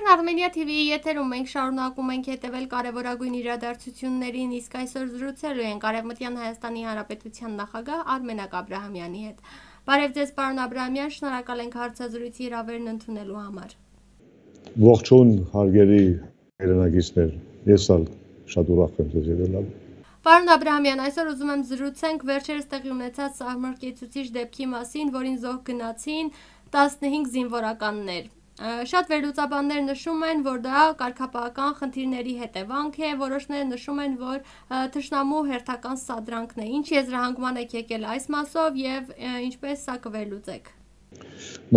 Armenia TV-ի եթերում մենք շարունակում ենք հետևել կարևորագույն իրադարձություններին, իսկ այսօր զրուցելու ենք Արևմտյան Հայաստանի Հանրապետության նախագահ Արմենակ Աբրահամյանի հետ։ Բարև ձեզ, պարոն Աբրահամյան, շնորհակալ ենք հարցազրույցի հրավերն ընդունելու համար։ Ողջույն, հարգելի հերոնակիցներ, ես շատ ուրախ եմ ձեզ ելնալու։ Պարոն Աբրահամյան, այսօր ուզում եմ զրուցենք վերջերս տեղի ունեցած սահմռկեցուցիչ դեպքի մասին, որին զոհ գնացին 15 զինվորականներ։ Շատ վերլուծաբաններ նշում են, որ դա կարգապահական խնդիրների հետևանք է, որոշները նշում են, որ թշնամու հերթական սադրանքն է։ Ինչ եզրահանգման եք եկել այս մասով եւ ինչպես սա կվերլուծեք։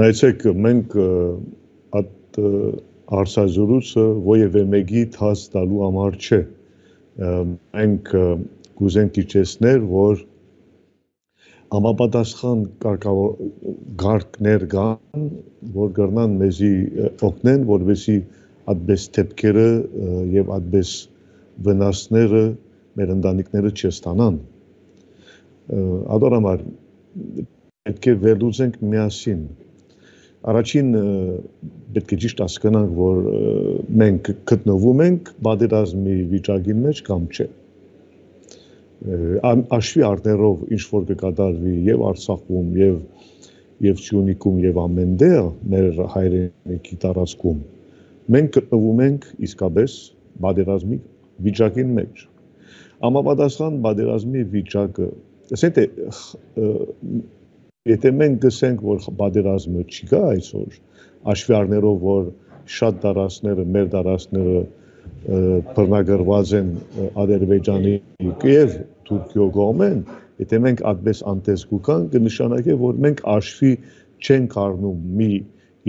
Նայեցեք, մենք այդ հարցազրույցը ովևէ մեկի թաց տալու համար չէ։ Մենք կուզենք իջեցնել, որ համապատասխան գարկներ կան, որ կրնան մեզի օգնեն, որովհետեւ այդպես դեպքերը եւ այդպես վնասները մեր ընտանիքները չստանան։ Ադորամար պետք է վերլուծենք միասին։ Առաջին պետք է ճիշտ հասկանանք, որ մենք գտնվում ենք պատերազմի վիճակի մեջ կամ չէ։ Աշվի առներով ինչ որ կկատարվի եւ Արցախում եւ Սյունիքում եւ ամենտեղ մեր հայրենիքի տարածքում մենք գտնվում ենք իսկապես պատերազմի վիճակի մեջ։ Համապատասխան պատերազմի վիճակը, ասենք եթե մենք գսենք, որ պատերազմը չկա այսօր, աշվի առներով, որ շատ տարածքները, մեր տարածքները բռնագրված են Ադրբեջանի եւ Թուրքիո կողմեն, եթե մենք այդպես անտեսք ուկանք, կնշանակի, որ մենք աշվի չենք առնում մի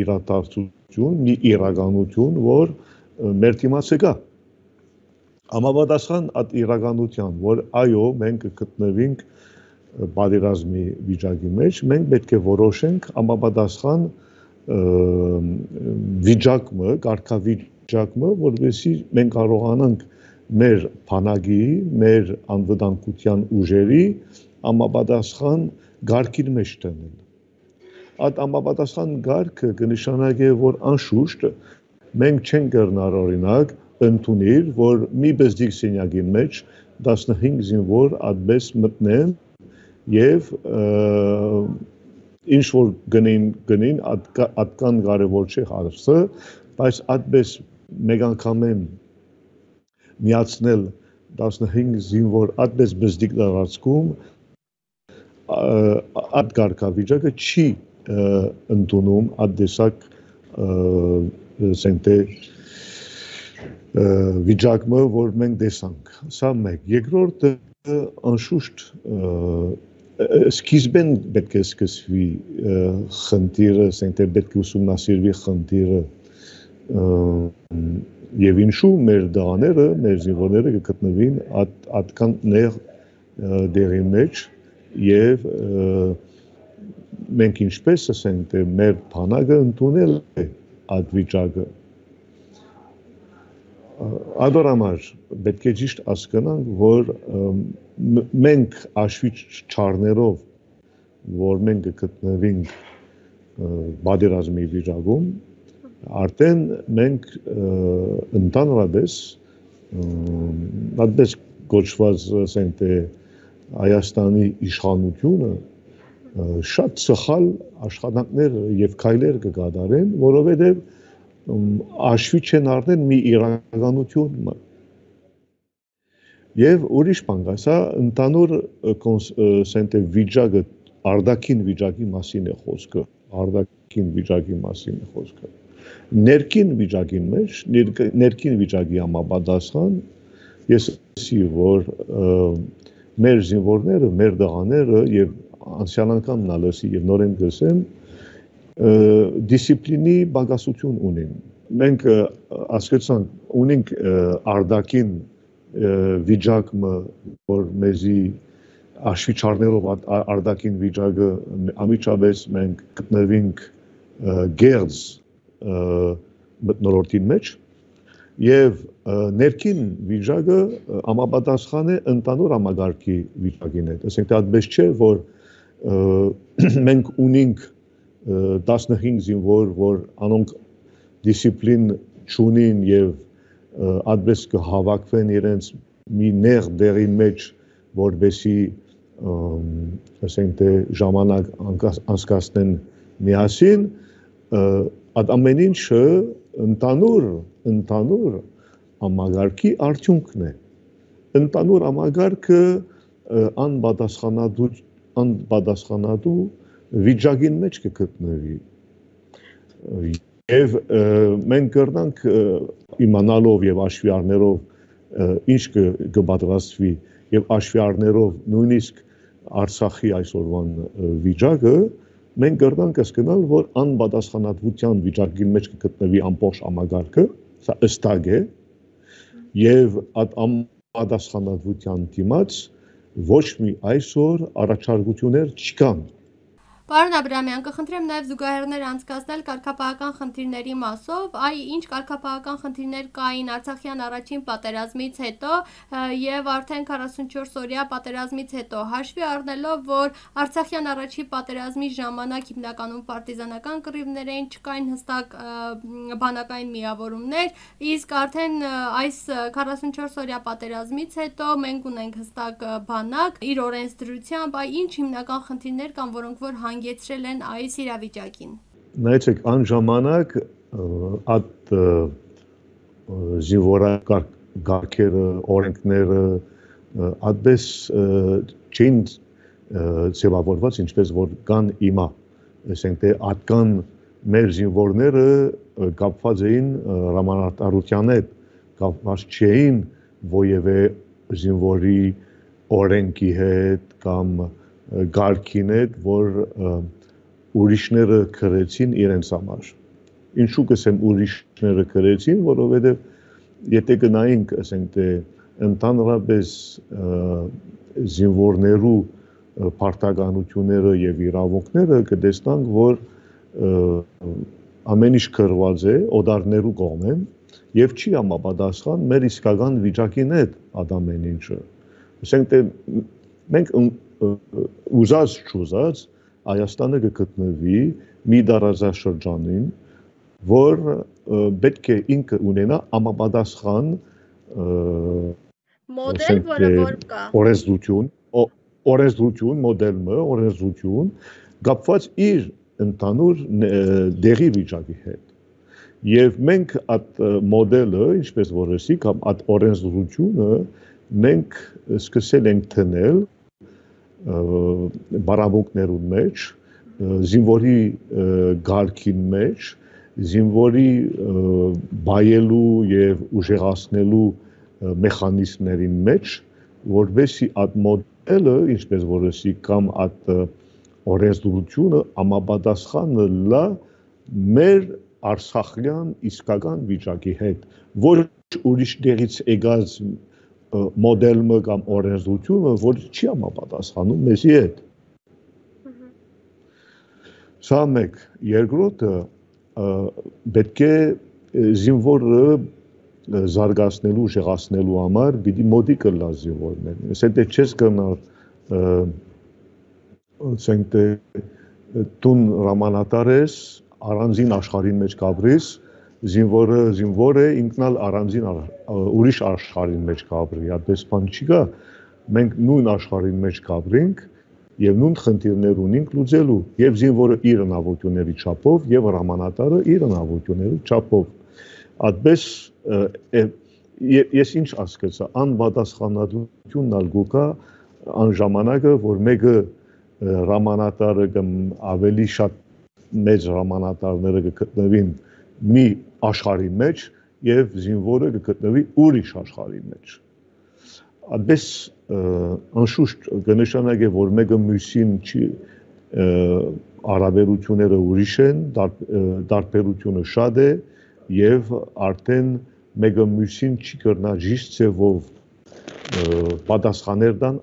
իրադարձություն, մի իրականություն, որ մեր դիմացը կա։ Համապատասխան այդ իրականության, որ այո, մենք գտնվենք պատերազմի վիճակի մեջ, մենք պետք է որոշենք համապատասխան վիճակը, կարգավիճակը, որովհետեւ մենք կարողանանք մեր բանակի, մեր անվտանգության ուժերի համապատասխան գարկի մեջ տանել։ Այդ համապատասխան գարկը կնշանակի, որ անշուշտ մենք չենք կրնար օրինակ ընդունել, որ մի բզդիկ սենյակի մեջ 15 զինվոր այդպես մտնեն եւ ինչ որ գնին այդքան կարևոր չէ հարցը, բայց այդպես մեկ անգամ միացնել 15 զինվոր այդպես բզդիկ տարածքում այդ կարգավիճակը չի ընդունում այդ տեսակ սենտե վիճակը, որ մենք տեսանք։ Սա մեկ։ Երկրորդը անշուշտ սկիզբեն պետք է սկսվի խնդիրը, սենտե պետք է ուսումնասիրվի խնդիրը եւ ինչու մեր դաները, մեր զինվորները կգտնվին այդքան նեղ դերի մեջ եւ մենք ինչպես ասենք մեր բանակը ընդունել է այդ վիճակը։ Ադորամար պետք է ճիշտ հասկանանք, որ մենք աշվի չառներով, որ մենք գտնվենք պատերազմի վիճակում, արդեն մենք ընդհանրապես այդպես գոչված ասենք Հայաստանի իշխանությունը շատ սխալ աշխատանքներ եւ քայլեր կկատարեն, որովհետեւ աշվի չեն առնել մի իրականություն եւ ուրիշ բան կա, սա ընդհանուր ասենք վիճակը արդակին վիճակի մասին է խոսքը, արդակին վիճակի մասին է խոսքը։ Ներքին վիճակի մեջ, ներքին վիճակի համապատասխան ես ասի, որ մեր զինվորները, մեր դղաները եւ անցյալ անգամ նալսի եւ նորեն գսեմ դիսցիպլինի բագասություն ունեն։ Մենք ասկացանք ունենք արդակին վիճակը, որ մեզի աշվի չառներով արդակին վիճակը ամիջապես մենք գտնվենք գերձ մտնոլորտի մեջ եւ ներքին վիճակը համապատասխան է ընդհանուր համագարկի վիճակին հետ։ Ասենք այդպես չէ, որ մենք ունենք 15 զինվոր, որ անոնք դիսցիպլին չունին եւ ադպես կհավաքվեն իրենց մի նեղ դերի մեջ, որբեսի ասենք թե ժամանակ անցկացնեն միասին, այդ ամեն ինչը ընդհանուր համագարկի արդյունքն է։ Ընդհանուր համագարկը անպատասխանատու վիճակին մեջ կգտնվի։ Եվ մենք կրնանք իմանալով եւ աշվի առներով ինչ կպատրաստվի եւ աշվի առներով նույնիսկ Արցախի այսօրվան վիճակը, մենք կրնանք հասկանալ, որ անպատասխանատվության վիճակի մեջ կգտնվի ամբողջ համագարկը, սա ըստակ է, եւ այդ անպատասխանատվության դիմաց ոչ մի այսօր առաջարկություններ չկան։ Պարոն Աբրամյան, կխնդրեմ նաև զուգահեռներ անցկացնել կարգապահական խնդիրների մասով, ինչ կարգապահական խնդիրներ կային Արցախյան առաջին պատերազմից հետո եւ արդեն 44-օրյա պատերազմից հետո, հաշվի առնելով, որ Արցախյան առաջին պատերազմի ժամանակ հիմնականում պարտիզանական կռիվներ էին, չկային հստակ բանակային միավորումներ, իսկ արդեն այս 44-օրյա պատերազմից հետո մենք ունենք հստակ բանակ, իր օրենսդրությամբ, ինչ հիմնական խնդիրներ կան, որոնք որ հանգեցրել են այս իրավիճակին։ Նայեցեք, այն ժամանակ այդ զինվորագարկերը, օրենքները այդպես չէին ձևավորված, ինչպես որ կան հիմա, ասենք թե այդքան մեր զինվորները կապված էին հրամանատարության հետ, կապված չէին որևէ զինվորի օրենքի հետ կամ գարկին հետ, որ ուրիշները քրեցին իրենց համար։ Ինչու կսեմ ուրիշները քրեցին, որովհետև եթե գնայինք, ասենք թե ընդհանրապես զինվորներու պարտականությունները եւ իրավունքները կտեսնանք, որ ամեն ինչ քրված է օդարներու կողմեն եւ չի համապատասխան մեր իսկական վիճակին հետ ամեն ինչը։ Ասենք թե մենք ուզած չուզած Հայաստանը կգտնվի մի դարաշրջանին, որ պետք է ինքը ունենա համապատասխան մոդել, որը որ կա օրենսդրություն կապված իր ընդհանուր դերի վիճակի հետ։ Եվ մենք այդ մոդելը, ինչպես որ ասի, կամ այդ օրենսդրությունը մենք սկսել ենք թնել բարամուկներուն մեջ, զինվորի գարկին մեջ, զինվորի բայելու եւ ուժեղացնելու մեխանիզմներին մեջ, որովհետեւ այդ մոդելը, ինչպես որ ասի, կամ այդ օրենսդրությունը համապատասխանը լա մեր արցախյան իսկական վիճակի հետ, ոչ ուրիշ դերից եկած մոդելը կամ օրենսդրությունը, որ չի համապատասխանում մեզի հետ։ Սա մեկ, երկրորդը պետք է զինվորը զարգացնելու, ուժեղացնելու համար պիտի մոդիկը լա զինվորներին։ Ասենք թե չես կնար ասենք թե տուն հրամանատար ես, առանձին աշխարհի մեջ կապրես, զինվորը ինքնալ առանձին ուրիշ աշխարհի մեջ կապրի, այդպես բան չկա, մենք նույն աշխարհի մեջ կապրենք եւ նույն խնդիրներ ունենք լուծելու, եւ զինվորը իր հնարավորությունների չափով եւ հրամանատարը իր հնարավորությունների չափով։ Այդպես ես ինչ ասկացա, անպատասխանատվությունն ալգու կա այն ժամանակը, որ մեկը հրամանատարը կամ ավելի շատ մեծ հրամանատարները կգտնվին մի աշխարհի մեջ եւ զինվորը կգտնվի ուրիշ աշխարհի մեջ։ Այդպես անշուշտ կնշանակե, որ մեկը մյուսին չի հարաբերությունները ուրիշ են, տարբերությունը շատ է եւ արդեն մեկը մյուսին չի կրնա ճիշտ ձևով պատասխաներ տան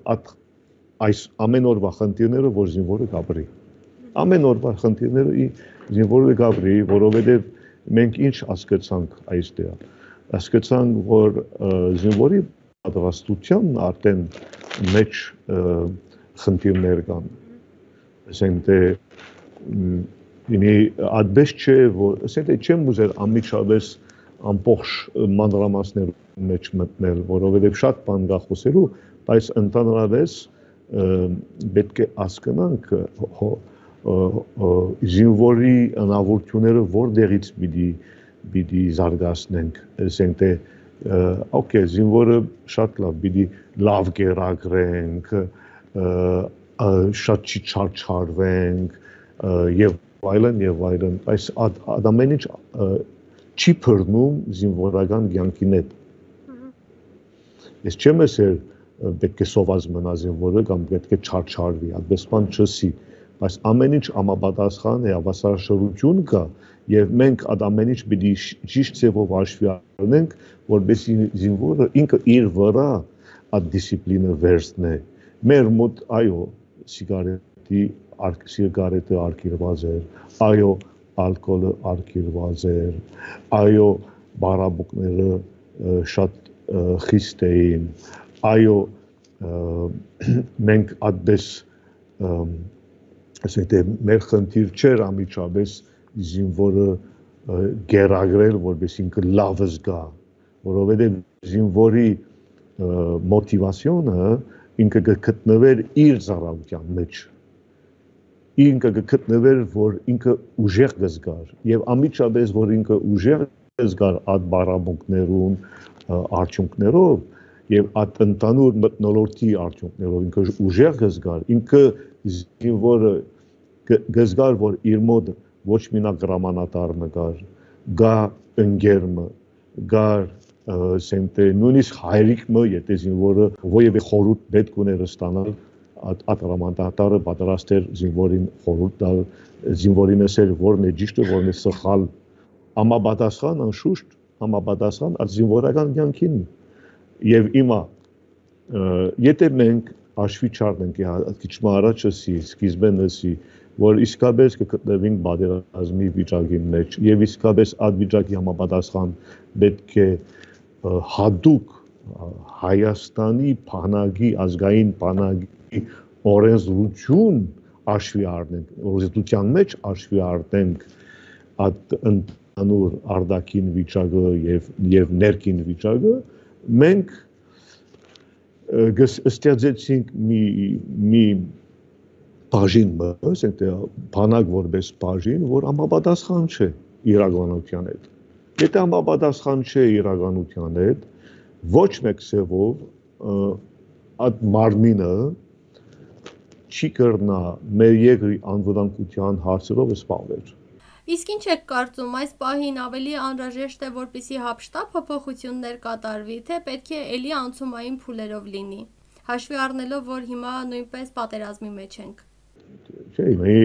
այս ամեն օրվա խնդիրները, որ զինվորը կապրի։ Ամեն օրվա խնդիրները զինվորը կապրի, որովհետեւ մենք ինչ հասկացանք այստեղ։ Հասկացանք, որ զինվորի պատրաստության արդեն մեջ խնդիրներ կան։ Ասենք թե ինի այդպես չէ, որ ասենք թե չեմ ուզել անմիջապես ամբողջ մանրամասներում մեջ մտնել, որովհետև շատ բան կա խոսելու, բայց ընդհանրապես պետք է հասկանանք զինվորի հնարավորությունները որտեղից պիտի զարգացնենք, ասենք թե օքեյ, զինվորը շատ լավ, պիտի լավ կերակրենք, շատ չի չարչարվենք եւ այլն, բայց ամեն ինչ չի բռնում զինվորական կյանքին հետ։ Ես չեմ ասել պետք է սոված մնա զինվորը կամ պետք է չարչարվի, այդպես բան չսի, բայց ամեն ինչ համապատասխան է, հավասարաշրջություն կա եւ մենք այդ ամեն ինչ պիտի ճիշտ ձևով հաշվի առնենք, որպեսզի զինվորը ինքը իր վրա այդ դիսցիպլինը վերցնի։ Մեր մոտ այո, սիգարետը արգելված էր, այո, ալկոհոլը արգելված էր, այո, բարաբուկները շատ խիստ էին, այո, մենք այդպես ասենք թե մեր խնդիր չէր ամիջապես զինվորը գերագրել, որպես ինքը լավ զգա, որովհետև զինվորի մոտիվացիոնը ինքը գտնվեր իր ծառայության մեջ, ինքը գտնվեր, որ ինքը ուժեղ կզգար, եւ ամիջապես որ ինքը ուժեղ կզգար այդ բարաբունքներուն արդյունքներով եւ այդ ընդանուր մթնոլորտի արդյունքներով ինքը ուժեղ կզգար, ինքը զինվորը կզգար, որ իր մոտ ոչ մենակ հրամանատարը գա ընկերը, գար ասենք թե նույնիսկ հայրիկը, եթե զինվորը ովևէ խորհուրդ պետք ուներ ստանալ, այդ հրամանատարը պատրաստ էր զինվորին խորհուրդ տալ, զինվորին ասել որն է ճիշտը, որն է սխալ, համապատասխան անշուշտ, համապատասխան այդ զինվորական կյանքին եւ հիմա եթե մենք հաշվի չառնենք քիչ առաջ սկիզբեն ասի որ իսկապես կգտնվենք պատերազմի վիճակի մեջ եւ իսկապես այդ վիճակի համապատասխան պետք է հատուկ Հայաստանի բանակի ազգային բանակի օրենսդրություն հաշվի առնենք, օրենսդրության մեջ հաշվի առնենք այդ ընդհանուր արտաքին վիճակը եւ ներքին վիճակը, մենք ստեղծեցինք մի բաժին, ասենք թե բանակ որպես բաժին, որ համապատասխան չէ իրականության հետ։ Եթե համապատասխան չէ իրականության հետ, ոչ մեկ սևով այդ մարմինը չի կրնա մեր երկրի անվտանգության հարցերով զբաղվել։ Իսկ ինչ եք կարծում, այս պահին ավելի անհրաժեշտ է, որպեսզի հապշտապ փոփոխություններ կատարվի, թե պետք է ելի անցումային փուլերով լինի, հաշվի առնելով, որ հիմա նույնպես պատերազմի մեջ ենք։ Չէ, մի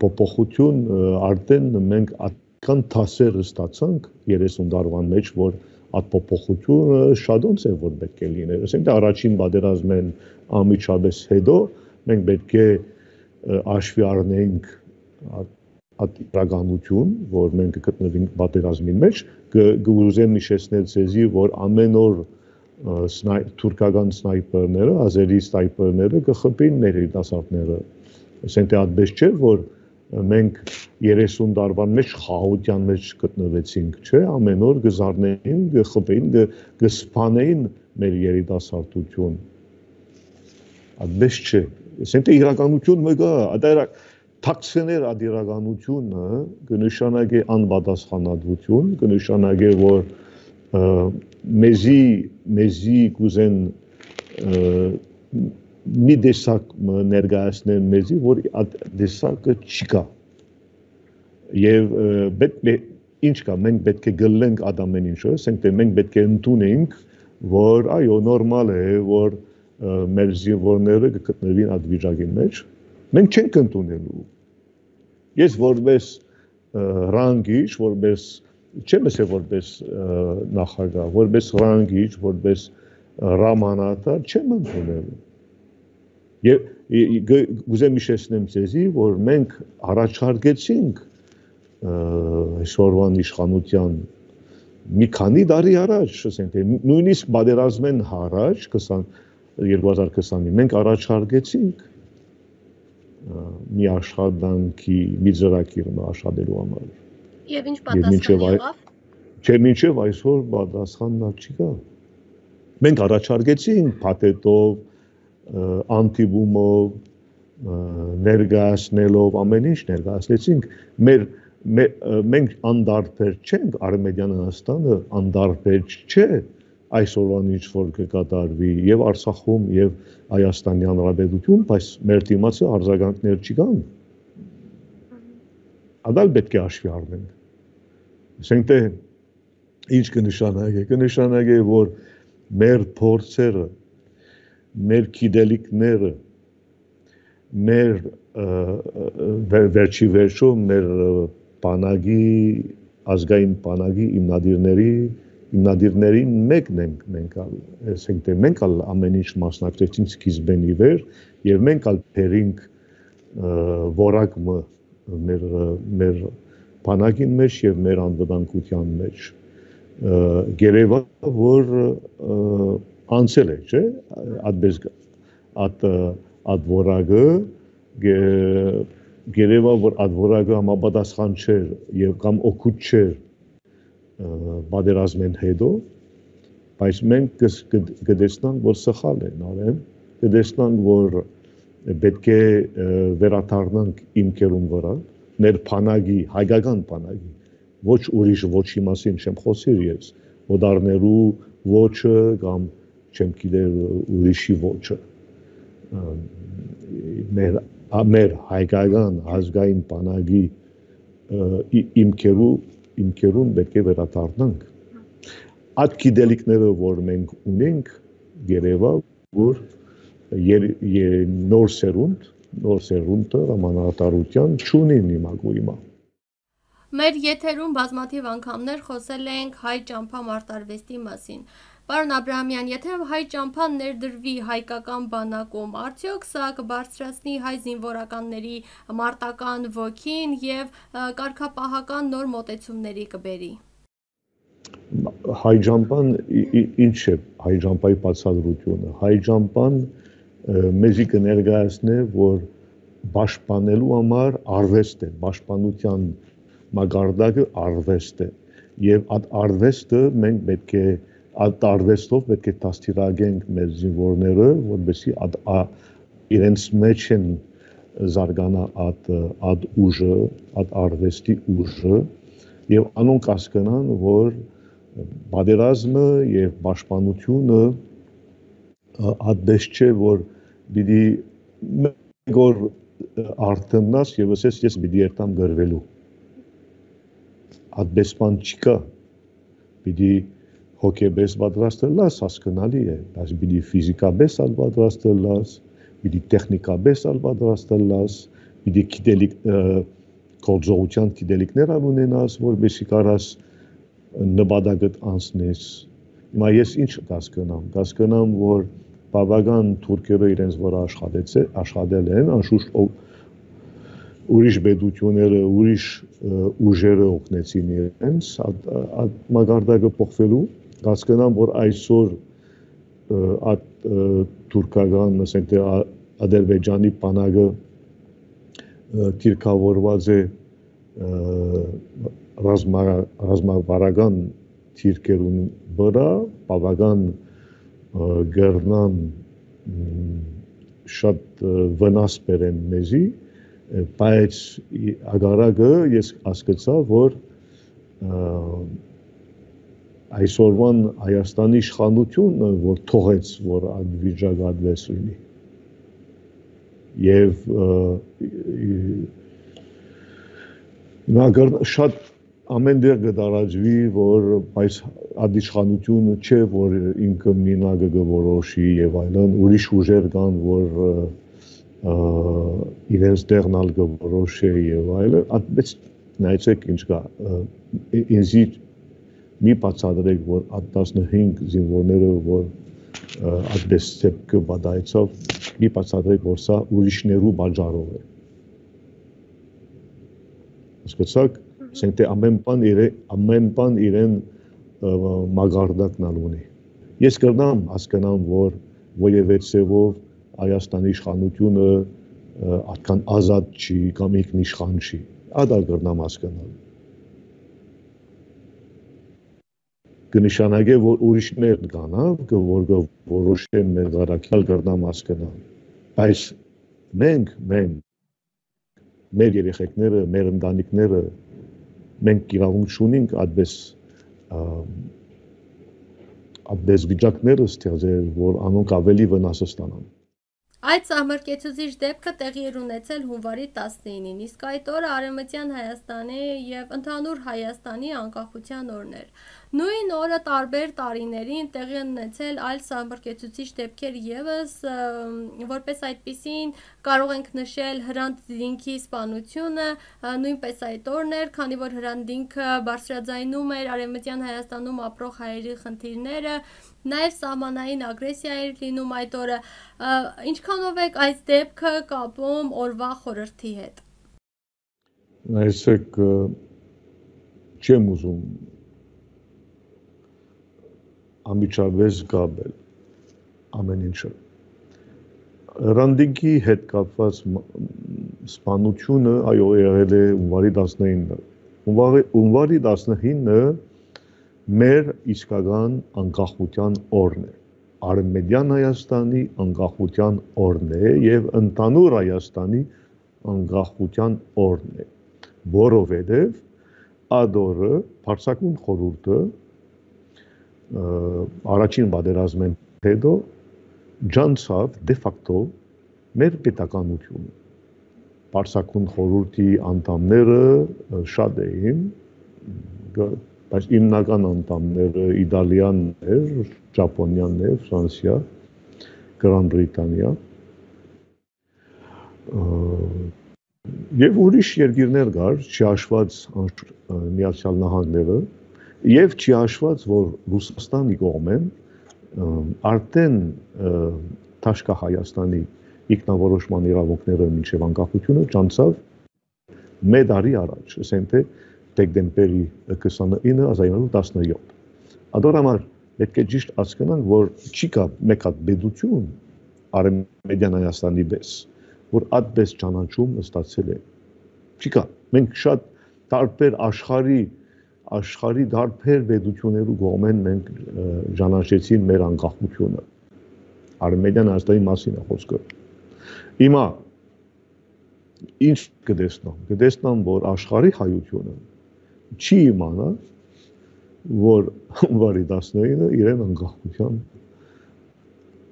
փոփոխություն արդեն մենք այդքան դասեր ստացանք 30 տարվան մեջ, որ այդ փոփոխությունը շատ ոնց է որ պետք է լիներ։ Ասենք թե առաջին պատերազմեն ամիջապես հետո մենք պետք է հաշվի առնենք այդ իրականություն, որ մենք գտնվենք պատերազմի մեջ, կուզեմ հիշեցնել ցեզի, որ ամեն օր թուրքական սնայպերները, ազերի սնայպերները կխփեին մեր երիտասարդները։ Ասենք թե այդպես չէ, որ մենք 30 տարվան մեջ խաղաղության մեջ գտնվեցինք, չէ, ամեն օր կզարնեին, կխփեին, կսփանեին մեր երիտասարդություն։ Այդպես չէ։ Ասենք թե իրականություն մեկը, թաքցնել այդ իրականությունը կնշանակի անպատասխանատվություն, կնշանակի որ մեզի կուզեն մի տեսակ ներկայացնել մեզի, որ այդ տեսակը չկա։ Եվ ինչ կա, մենք պետք է գլենք այդ ամեն ինչը, ասենք թե մենք պետք է ընդունենք, որ այո, նորմալ է, որ մեր զինվորները կգտնվին այդ վիճակի մեջ, մենք չենք ընդունելու։ Ես որպես ռանգիչ, որպես չեմ ասել որպես նախագահ, որպես ռանգիչ, որպես հրամանատար չեմ ընդունելու։ Եվ գուզեմ հիշեցնեմ ձեզի, որ մենք առաջարկեցինք այսօրվան իշխանության մի քանի տարի առաջ, ասենք թե նույնիսկ պատերազմեն առաջ 2020-ին մենք առաջարկեցինք մի աշխատանքի մի ծրագիր աշխատելու համար։ Եվ ինչ պատասխան եղավ։ Չէ, մինչև այսօր պատասխանն չկա։ Մենք առաջարկեցինք փաթեթով, անտիբումով, ներկայացնելով ամեն ինչ ներկայացրեցինք, մենք անդարբեր չենք, Արմենիան Հայաստանը անդարբեր չէ այսօրվան ինչ որ կկատարվի եւ Արցախում եւ Հայաստանի Հանրապետություն, բայց մեր դիմացի արձագանքներ չկան։ Ադալ պետք է հաշվի առնենք։ Ասենք թե ինչ կնշանակի, որ մեր փորձերը, մեր գիտելիքները, մեր վերջի վերջո մեր բանակի ազգային բանակի հիմնադիրներին մեկն ենք մենք ասենք թե մենք ամեն ինչ մասնակցեցինք սկիզբեն ի վեր եւ մենք բերինք որակը մեր բանակին մեջ եւ մեր անվտանգության մեջ գերեվա որ անցել է չէ այդ որակը գերեվա որ այդ որակը համապատասխան չէր եւ կամ օգուտ չէր պատերազմեն հետո բայց մենք կտեսնանք որ սխալ են արել կտեսնանք որ պետք է վերադառնանք իմ կերուն վրա մեր բանակի հայկական բանակի ոչ ուրիշ ոչի մասին չեմ խոսիր ես ոդարներու ոչը կամ չեմ գիտեր ուրիշի ոչը մեր հայկական ազգային բանակի իմքերուն պետք է վերադառնանք այդ գիտելիքները որ մենք ունենք երևա որ նոր սերունդը համանատարության չունին հիմա Մեր եթերում բազմաթիվ անգամներ խոսել ենք հայ ճամփա մարտարվեստի մասին Պարոն Աբրահամյան, եթե հայ ճամփան ներդրվի հայկական բանակում, արդյոք սա կբարձրացնի հայ զինվորականների մարտական ոգին եւ կարգապահական նոր մոտեցումների կբերի։ Հայ ճամփան ինչ է հայ ճամփայի բացատրությունը։ Հայ ճամփան մեզի կներկայացնի, որ պաշտպանելու համար արվեստ է, պաշտպանության մագարտակը արվեստ է եւ այդ արվեստը մենք պետք է Այդ արվեստով պետք է դաստիարակենք մեր զինվորները, որովհետեւ իրենց մեջ են զարգանա այդ ուժը, այդ արվեստի ուժը եւ անոնք հասկանան, որ պատերազմը եւ պաշտպանությունը այդպես չէ, որ պիտի մեկ օր արթնաս եւ ասես ես պիտի երթամ գրվելու։ Այդպես բան չկա։ Պիտի հոգեբես պատրաստելաս հասկանալի է, բայց պիտի ֆիզիկաբես պատրաստելաս, պիտի տեխնիկաբես պատրաստելաս, պիտի գիտելիք գործողության գիտելիքներ ունենաս, որպեսզի կարաս նպատակդ անցնես։ Հիմա ես ինչ կասկնամ, որ բավական թուրքերը իրենց վրա աշխատել են, անշուշտ ուրիշ պետությունները, ուրիշ ուժերը օգնեցին իրենց, այդ մագարտակը փոխվելու Կասկնամ, որ այսօր այդ թուրքական, ասենք թե Ադրբեջանի բանակը թիրքավորված է ռազմավարական թիրքերուն վրա, բավական գրնան շատ վնաս բերեն մեզի, բայց ագարակը ես հասկացա, որ այսօրվան Հայաստանի իշխանությունը, որ թողեց, որ այդ վիճակը այդպես լինի։ Եվ շատ ամեն դեր կդարաջվի, որ այս այդ իշխանությունը չէ, որ ինքը մինագը կորոշի եւ այլն, ուրիշ ուժեր կան, որ իրենց տեղնալ կորոշի եւ այլն, այդպես նայեցեք ինչ կա, ինձի մի բացատրեք, որ այդ 15 զինվորները, որ այդպես ծեպքը բադայցավ, մի բացատրեք, որ սա ուրիշներու բաժարով է։ Հասկացաք, ասենք թե ամեն բան իրեն մագարտակն ունի։ Ես կրնամ հասկանամ, որ որևէ ցևով Հայաստանի իշխանությունը այդքան ազատ չի կամ ինքնիշխան չի։ Ադա կրնամ հասկանալ։ կնշանակե, որ ուրիշներն կանավ, որ որոշեն մեր վարակյալ գրնամաս կնան։ Բայց մենք, մեր երեխեքները, մեր ընտանիքները, մենք իրավունք չունենք այդպես վիճակները ստեղծել, որ անոնք ավելի վնասը ստանան։ Այդ սահմռկեցուցիչ դեպքը տեղի էր ունեցել հունվարի 19-ին, իսկ այդ օրը Արևմտյան Հայաստանի և ընդհանուր Հայաստանի անկախության օրն էր։ Նույն օրը տարբեր տարիներին տեղի են ունեցել այլ սահմռկեցուցիչ դեպքեր ևս, որպես այդպիսին կարող ենք նշել Հրանտ Դինքի սպանությունը, նույնպես այդ օրն էր, քանի որ Հրանտ Դինքը բարձրաձայնում էր Արևմտյան Հայաստանում ապրող հայերի խնդիրները, նաև սահմանային ագրեսիա էր լինում այդ օրը։ Ինչքանով եք այս դեպքը կապում օրվա խորհրդի հետ։ Այսեք չեմ ուզում ամիջավես գաբել ամեն ինչը։ Հրանտ Դինքի հետ կապված սպանությունը այո եղել է հունվարի 19-ը։ Հունվարի 19-ը մեր իսկական անկախության օրն է, Արևմտյան Հայաստանի անկախության օրն է և ընդհանուր Հայաստանի անկախության օրն է, որովհետև այդ օրը Բարձրագույն խորհուրդը առաջին պատերազմեն հետո ջանցավ դե ֆակտո մեր պետականությունը։ Բարձրագույն խորհրդի անդամները շատ էին, բայց հիմնական անդամները Իտալիան էր, Ճապոնիան էր, Ֆրանսիա, Գրան Բրիտանիա և ուրիշ երկիրներ կար, չհաշված Միացյալ Նահանգները և չհաշված, որ Ռուսաստանի կողմեն արդեն Թաշկա Հայաստանի ինքնավորոշման իրավունքները մինչև անկախությունը ջանցավ մեկ տարի առաջ, ասենք թե դեկտեմբերի 29-1917։ Ադոր համար պետք է ճիշտ հասկանանք, որ չի կա մեկ հատ պետություն Արևմտյան Հայաստանի պես, որ այդպես ճանաչում ստացել է։ Չի կա։ Մենք շատ տարբեր աշխարհի տարբեր պետություններու կողմեն մենք ճանաչեցին մեր անկախությունը։ Արևմտյան Հայաստանի մասին է խոսքը։ Հիմա ինչ կտեսնամ։ Կտեսնամ, որ աշխարհի հայությունը չի իմանա, որ հունվարի 19-ը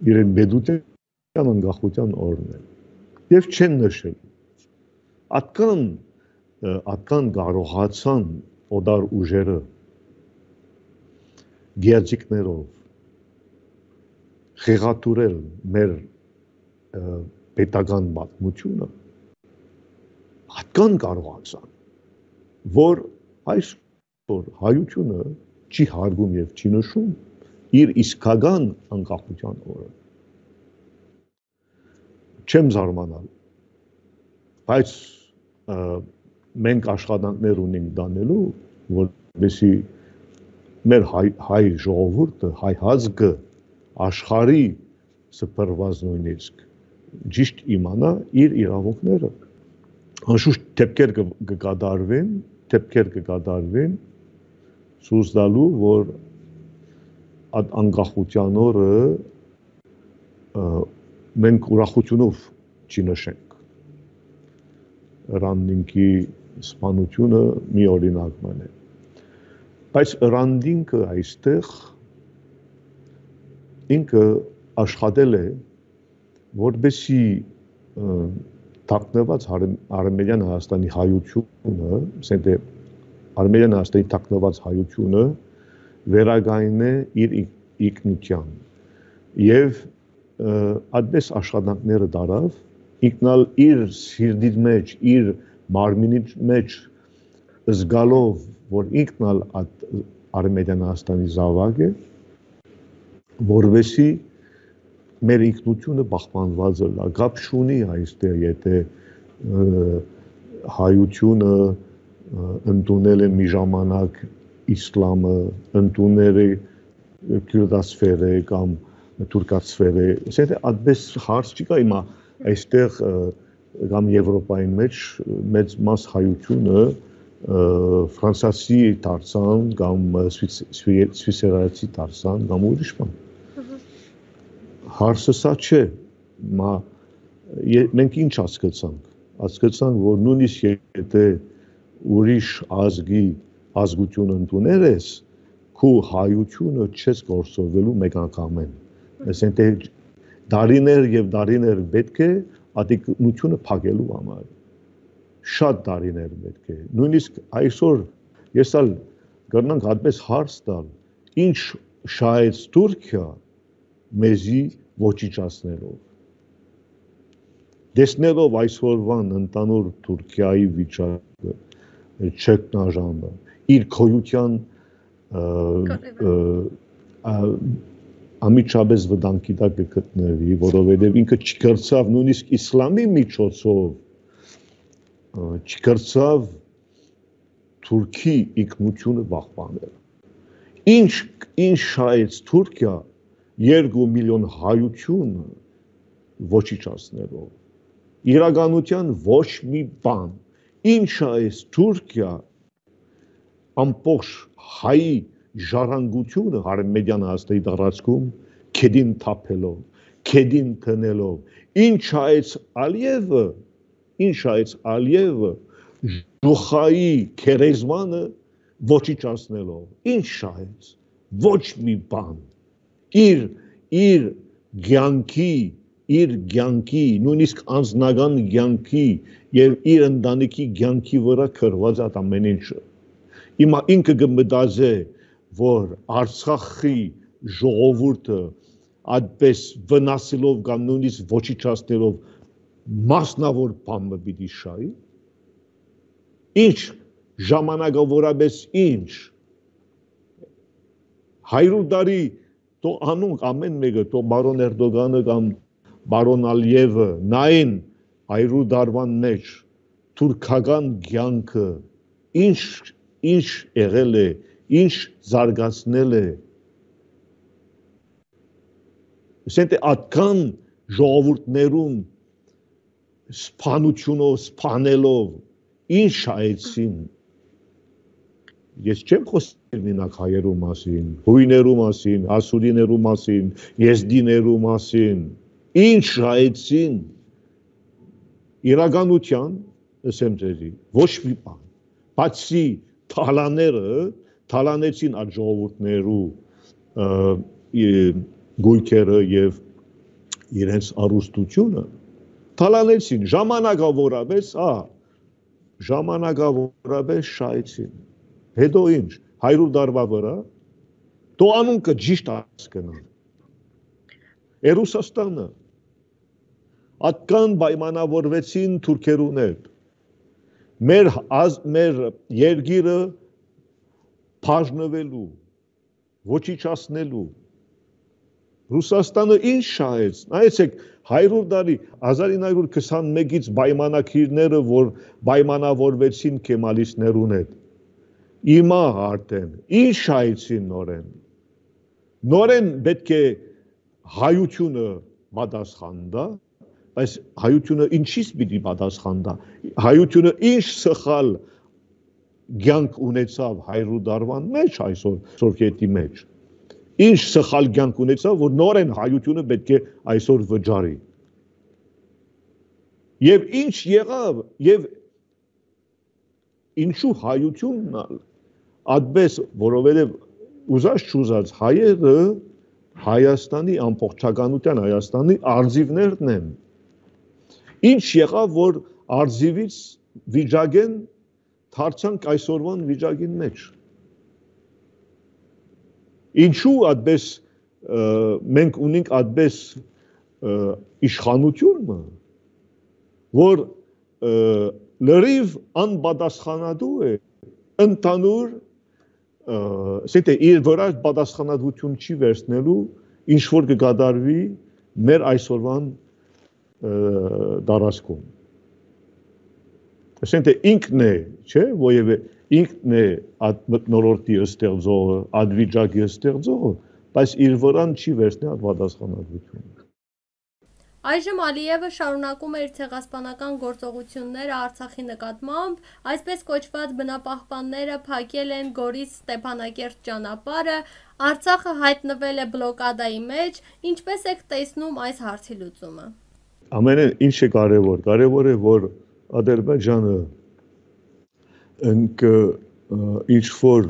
իրեն պետության անկախության օրն է։ Եվ չեն նշել։ Ատկան կարողացան օտար ուժերը գերձիկներով խեղաթուրել մեր պետական պատմությունը, ատկան կարողացան, որ այսօր հայությունը չի հարգում և չի նշում իր իսկական անկախության օրը։ Չեմ զարմանալ, բայց մենք աշխատանքներ ունենք դանելու, որպեսզի մեր հայ ժողովուրդը, հայ ազգը աշխարհի սփռված նույնիսկ ճիշտ իմանա իր իրավունքները։ Անշուշտ դեպքեր կկատարվեն ցույց տալու, որ այդ անկախության օրը մենք ուրախությունով չնշենք։ Հրանտ Դինքի սպանությունը մի օրինակն է։ Բայց Հրանտ Դինքը այստեղ ինքը աշխատել է, որպեսզի թաքնված Արևմտյան Հայաստանի հայությունը, ասենք թե Արևմտյան Հայաստանի թաքնված հայությունը վերականգնե իր ինքնության եւ այդպես աշխատանքները դարավ, ինքնալ իր սիրտի մեջ, իր մարմինի մեջ զգալով, որ ինքնալ Արևմտյան Հայաստանի զավակ է, որովհետեւ մեր ինքնությունը պահպանված է, կապ չունի այստեղ, եթե հայությունը ընդունել է մի ժամանակ իսլամը, ընդունել է քյուրդասֆերը կամ թուրքասֆերը, ասենք այդպես հարց չի կա, հիմա այստեղ կամ Եվրոպայի մեջ մեծ մաս հայությունը ֆրանսիացի դարձան կամ սվիսերացի դարձան կամ ուրիշ բան։ Հարցը սա չէ, մենք ինչ հասկացանք, որ նույնիսկ եթե ուրիշ ազգություն ընդուներ ես, քո հայությունը չես գործովելու մեկ անգամեն։ Այսինքն դարիներ եւ դարիներ պետք է ադեկնությունը փակելու համար։ Շատ դարիներ պետք է։ Նույնիսկ այսօր ես ալ կրնանք այդպես հարց տալ, ինչ շահեց Թուրքիա մեզի ոչիչացնելով։ Տեսնելով այսօրվան ընդանուր Թուրքիայի վիճակը, չեքնաժամը, իր քոյության ամիջապես վտանգի տակ կգտնվի, որովհետև ինքը չկրծավ նույնիսկ իսլամի միջոցով, չկրծավ Թուրքի ինքնությունը պահպանել։ Ինչ շահեց Թուրքիա 2 միլիոն հայությունը ոչիչացնելով։ Իրականության ոչ մի բան։ Ինչ շահեց Թուրքիա ամբողջ հայի ժառանգությունը Արմենիան ազգի տարածքում քեդին թափելով, քեդին տնելով։ Ինչ շահեց Ալիևը Ժուխայի քերեզմանը ոչիչացնելով։ Ինչ շահեց։ Ոչ մի բան։ Իր կյանքի, նույնիսկ անձնական կյանքի եւ իր ընտանիքի կյանքի վրա քրված այդ ամեն ինչը։ Հիմա ինքը կմտածե, որ Արցախի ժողովուրդը այդպես վնասելով կամ նույնիսկ ոչիչացնելով մասնավոր բանը պիտի շահի։ Ինչ ժամանակավորապես ինչ 100 տարի թող անոնք ամեն մեկը թող բարոն Էրդոգանը կամ բարոն Ալիևը նային 100 տարվան մեջ թուրքական կյանքը ինչ եղել է, ինչ զարգացնել է։ Ասենք այդքան ժողովուրդներուն սփանությունով, սփանելով ինչ շահեցին։ Ես չեմ խոսել մենակ հայերու մասին, հույներու մասին, ասուրիներու մասին, եզդիներու մասին։ Ինչ շահեցին։ Իրականության, ասեմ ձեզի, ոչ մի բան։ Բացի թալանեցին այդ ժողովուրդներու գույքերը եւ իրենց առուստությունը, թալանեցին ժամանակավորապես շահեցին։ Հետո ինչ 100 տարվա վրա թող անունքը ճիշտ հասկանան։ Ռուսաստանը այդքան պայմանավորվեցին թուրքերուն հետ։ Մեր երկիրը բաժնվելու, ոչիչացնելու։ Ռուսաստանը ինչ շահեց։ Նայեցեք 100 տարի 1921-ից պայմանակիրները, որ պայմանավորվեցին կեմալիստներուն հետ։ Հիմա արդեն ինչ շահեցին նորեն։ Նորեն պետք է հայությունը պատասխան տա, բայց հայությունը ինչից պիտի պատասխան տա։ Հայությունը ինչ սխալ կյանք ունեցավ 100 տարվան մեջ այսօր սովետի մեջ։ Ինչ սխալ կյանք ունեցավ, որ նորեն հայությունը պետք է այսօր վճարի։ Եվ ինչ եղավ, եւ ինչու հայությունն այդպես, որովհետև ուզած չուզած հայերը Հայաստանի ամբողջականության Հայաստանի արձիվներն են։ Ինչ եղավ, որ արձիվից վիճակեն դարձանք այսօրվան վիճակին մեջ։ Ինչու այդպես մենք ունենք այդպես իշխանությունը, որ լրիվ անպատասխանատու է ընդհանուր իր վրա պատասխանատվություն չի վերցնելու, ինչ որ կկատարվի մեր այսօրվան տարածքում։ Ասենք ինքն է, չէ՞, որևէ ինքն է այդ մթնոլորտի ստեղծողը, այդ վիճակի ստեղծողը, բայց իր վրան չի վերցնել պատասխանատվությունը։ Այժմ Ալիևը շարունակում է իր ցեղասպանական գործողությունները Արցախի նկատմամբ, այսպես կոչված բնապահպանները փակել են Գորիս-Ստեփանակերտ ճանապարհը, Արցախը հայտնվել է բլոկադայի մեջ, ինչպես եք տեսնում այս հարցի լուծումը։ Ամենը ինչ է կարևոր, կարևոր է, որ Ադրբեջանը ինչ որ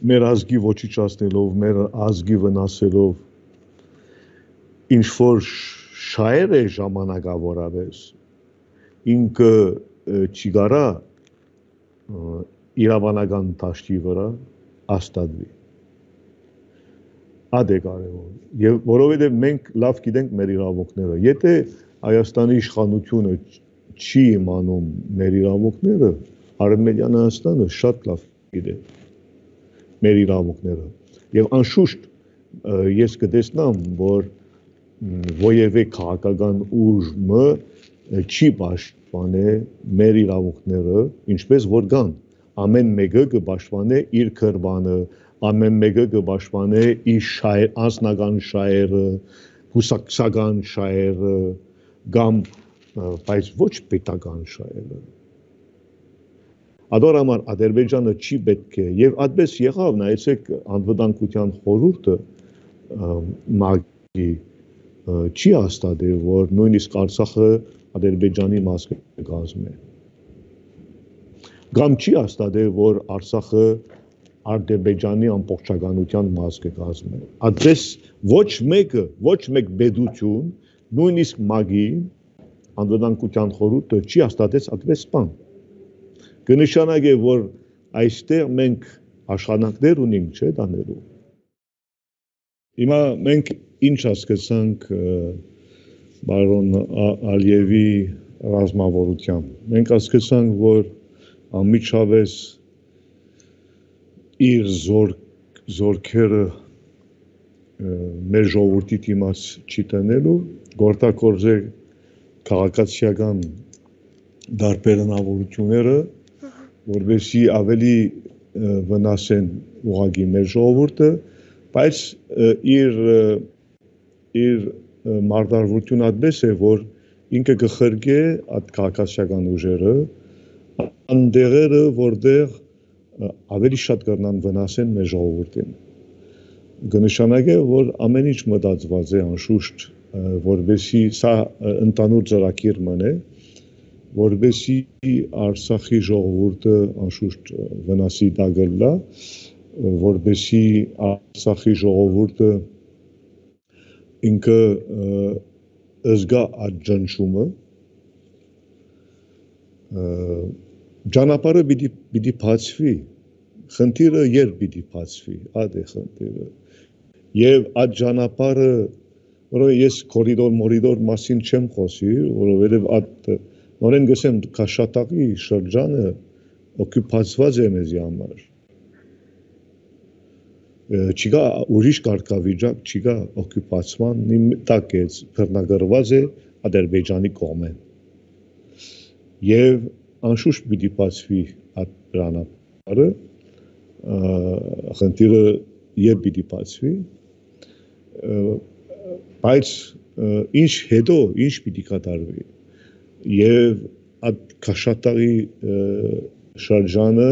մեր ազգի ոչնչացնելով, մեր ազգի վնասելով, ինչ որ շահեր է ժամանակավորապես, ինքը չի կարա իրավանական դաշտի վրա հաստատվի։ Ա դե կարևոր։ Եվ որովհետև մենք լավ գիտենք մեր իրավունքները։ Եթե Հայաստանի իշխանությունը չի իմանում մեր իրավունքները, Արևմտյան Հայաստանը շատ լավ գիտե մեր իրավունքները։ Եվ անշուշտ ես կտեսնամ, որ որևէ քաղաքական ուժը չի պաշտպանե մեր իրավունքները, ինչպես որ կան։ Ամեն մեկը կպաշտպանե իր քրբանը, ամեն մեկը կպաշտպանե իր անձնական շահերը, հուսակցական շահերը, կամ բայց ոչ պետական շահերը։ Ադոր համար Ադրբեջանը չի պետք է, եւ այդպես եղավ, նայեցեք անվտանգության խորհուրդը ՄԱԿ-ի չի հաստատել, որ նույնիսկ Արցախը Ադրբեջանի մաս կկազմի։ Կամ չի հաստատել, որ Արցախը Ադրբեջանի ամբողջականության մաս կկազմի։ Այդպես ոչ մեկ պետություն, նույնիսկ ՄԱԿ-ի անվտանգության խորհուրդը չի հաստատել այդպես բան։ Կնշանակե, որ այստեղ մենք աշխատանքներ ունենք, չէ՞ դանելու։ Հիմա մենք ինչ հասկացանք բարոն Ալիևի ռազմավարությամբ։ Մենք հասկացանք, որ անմիջապես իր զորքերը մեր ժողովրդի դիմաց չի տնելու, գործակորձել քաղաքացիական դարբերնավորությունները, որովհետեւ ավելի վնասեն ուղղակի մեր ժողովուրդը, բայց իր մարտավարությունը այդպես է, որ ինքը կխրգե այդ քաղաքացիական ուժերը, այնտեղերը, որտեղ ավելի շատ կգնան վնասեն մեր ժողովրդին։ Կնշանակե, որ ամեն ինչ մտածված է անշուշտ, որովհետեւ սա ընդհանուր ծրագիր մնե, որովհետեւ Արցախի ժողովուրդը անշուշտ վնասի տակելա, որովհետեւ Արցախի ժողովուրդը ինքը զգա այդ ճնշումը, ճանապարհը պիտի բացվի, խնդիրը երբ պիտի բացվի, այդ է խնդիրը, եւ այդ ճանապարհը, որովհետեւ ես կորիդոր մասին չեմ խոսի, որովհետեւ այդ նորեն գսեմ Քաշաթաղի շրջանը օկուպացված է մեզի համար։ Չկա ուրիշ կարգավիճակ, չկա օկուպացման տակ է, բռնագրված է Ադրբեջանի կողմեն։ Եվ անշուշտ պիտի բացվի այդ ճանապարհը, խնդիրը երբ պիտի բացվի, բայց ինչ պիտի կատարվի։ Եվ այդ Քաշաթաղի շրջանը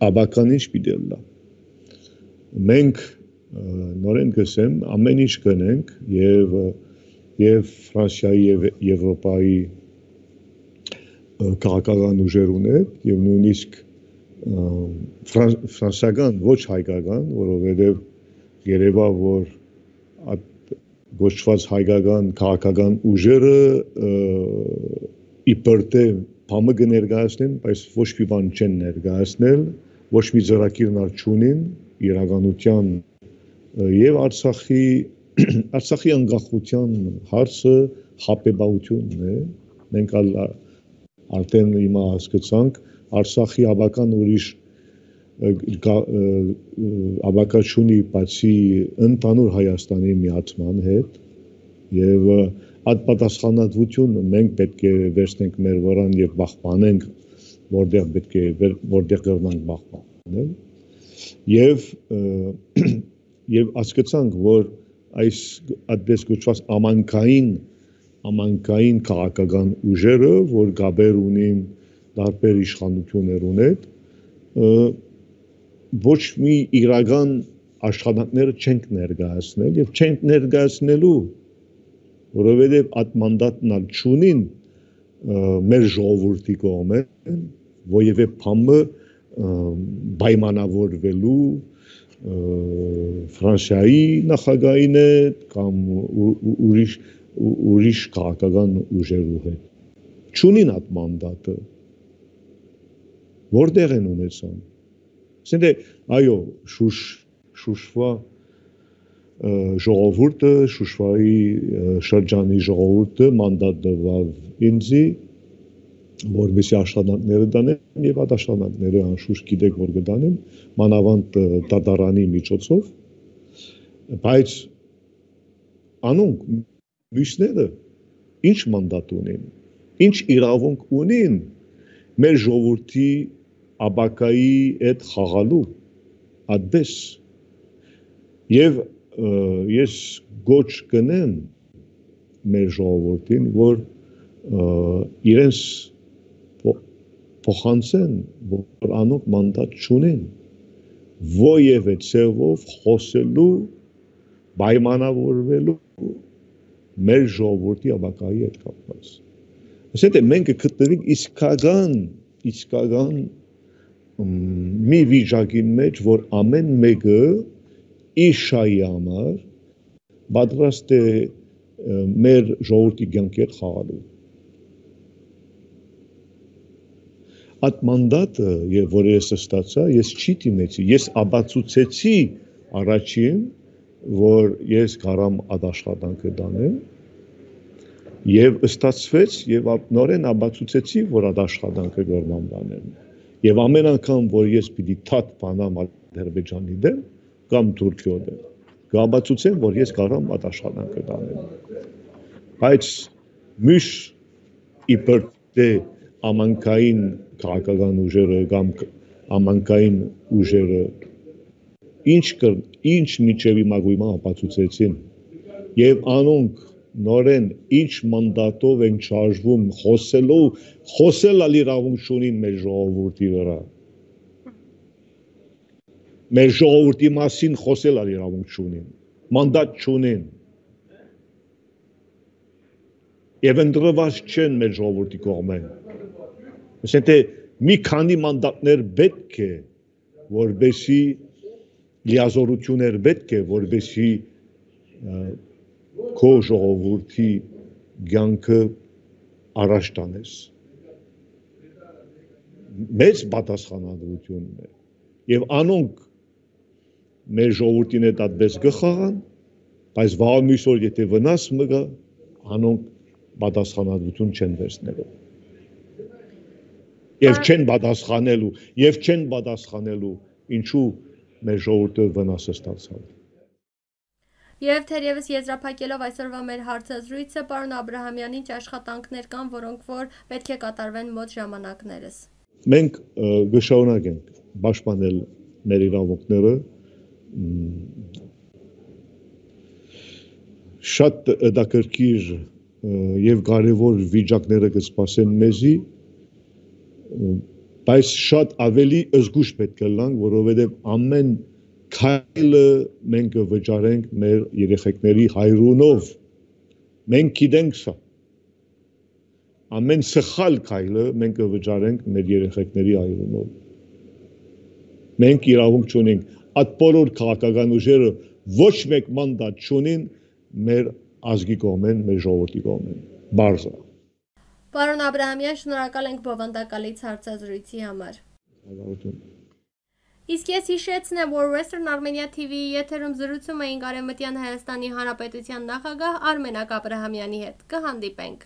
աբական ինչ պիտի լա։ Մենք նորեն գսեմ ամեն ինչ կնենք եւ Ֆրանսիայի եւ Եվրոպայի քաղաքական ուժերուն հետ եւ նույնիսկ ֆրանսիական ոչ հայկական, որովհետեւ երևա որ այդ գոչված հայկական քաղաքական ուժերը իբր թե բամը կներկայացնեն, բայց ոչ մի բան չեն ներկայացնել, ոչ մի ծրագիր չունին իրականության եւ Արցախի անկախության հարցը հապետությունն է։ Մենք արդեն հիմա հասկացանք Արցախի ավական ուրիշ ավակաչունի բացի ընդհանուր Հայաստանի միացման հետ եւ այդ պատասխանատվությունը մենք պետք է վերցնենք մեր վրան եւ պահպանենք որտեղ պետք է որտեղ կրնանք պահպան անել եւ հասկացանք, որ այս այդպես կոչված ամանկային քաղաքական ուժերը, որ գաբեր ունին տարբեր իշխանություններ ունեն, ոչ մի իրական աշխատանքներ չենք ներկայացնել եւ չենք ներկայացնելու, որովհետեւ այդ մանդատն չունին մեր ժողովրդի կողմեն, որևէ բանը պայմանավորվելու Ֆրանսիայի նախագահին հետ կամ ուրիշ քաղաքական ուժերու հետ։ Չունին այդ մանդատը։ Որտեղ են ունեցան։ Ասենք այո, Շուշվա ժողովուրդը, Շուշվայի շրջանի ժողովուրդը մանդատ տվավ ինձի, որովհետեւ աշխատանքները դանեն եւ այդ աշխատանքները անշուշտ գիտեք որ կդանեն մանավանդ դատարանի միջոցով, բայց անոնք մյուսները ինչ մանդատ ունեն, ինչ իրավունք ունեն մեր ժողովրդի ապակայի հետ խաղալու այդպես եւ ես գոչ կնեմ մեր ժողովրդին, որ իրենց փոխանցեն, որ անոնք մանդատ չունեն որևէ ցեղով խոսելու, պայմանավորվելու մեր ժողովրդի ապակայի հետ կապված։ Ասենք մենք գտնվենք իսկական մի վիճակի մեջ, որ ամեն մեկը իր շահի համար պատրաստ է մեր ժողովրդի կյանքի հետ խաղալու։ Այդ մանդատը, որ ես ստացա, ես չի դիմեցի, ես ապացուցեցի առաջին, որ ես կարամ այդ աշխատանքը դանեմ, եւ ստացվեց եւ նորեն ապացուցեցի, որ այդ աշխատանքը կարամ դանեմ։ Եվ ամեն անգամ, որ ես պիտի թաթ բանամ Ադրբեջանի դեմ կամ Թուրքիո դեմ, կապացուցեմ, որ ես կարամ այդ աշխատանքը դանեմ։ Բայց մյուս իբր ամանկային քաղաքական ուժերը կամ ամանկային ուժերը ինչ միջև իմագույմա ապացուցեցին եւ անոնք նորեն ինչ մանդատով են շարժվում խոսել իրավունք չունին մեր ժողովրդի վրա մեր ժողովրդի մասին խոսել իրավունք չունին մանդատ չունին եւ ընդրված չեն մեր ժողովրդի կողմեն ասենք մի քանի մանդատներ պետք է որբեսի լիազորություններ պետք է որբեսի քո ժողովրդի կյանքը առաջ տանես մեծ պատասխանատվություն է եւ անոնք մեր ժողովրդին հետ այդպես կխաղան բայց վաղ մյուս օր եթե վնաս մգա անոնք պատասխանատվություն չեն վերցնելու եւ չեն պատասխանելու ինչու մեր ժողովուրդը վնասը ստացավ Եվ թերևս եզրափակելով այսօրվա մեր հարցազրույցը, պարոն Աբրահամյան, ինչ աշխատանքներ կան, որոնք որ պետք է կատարվեն մոտ ժամանակներս։ Մենք կշարունակենք պաշտպանել մեր իրավունքները, շատ հետաքրքիր եւ կարեւոր վիճակները կսպասեն մեզի, բայց շատ ավելի զգուշ պետք է լանք, որովհետեւ ամեն քայլը մենք վճարենք մեր երեխեքների հայրունով մենք գիտենք սա ամեն սխալ քայլը մենք վճարենք մեր երեխեքների հայրունով մենք իրավունք չունենք այդ բոլոր քաղաքական ուժերը ոչ մեկ մանդատ չունին մեր ազգի կողմեն մեր ժողովրդի կողմեն բարձր Պարոն Աբրահամյան շնորհակալ ենք բովանդակալից հարցազրույցի համար Իսկ ես հիշեցնեմ, որ Western Armenia TV-ի եթերում զրուցում էինք Արևմտյան Հայաստանի Հանրապետության նախագահ Արմենակ Աբրահամյանի հետ։ Կհանդիպենք։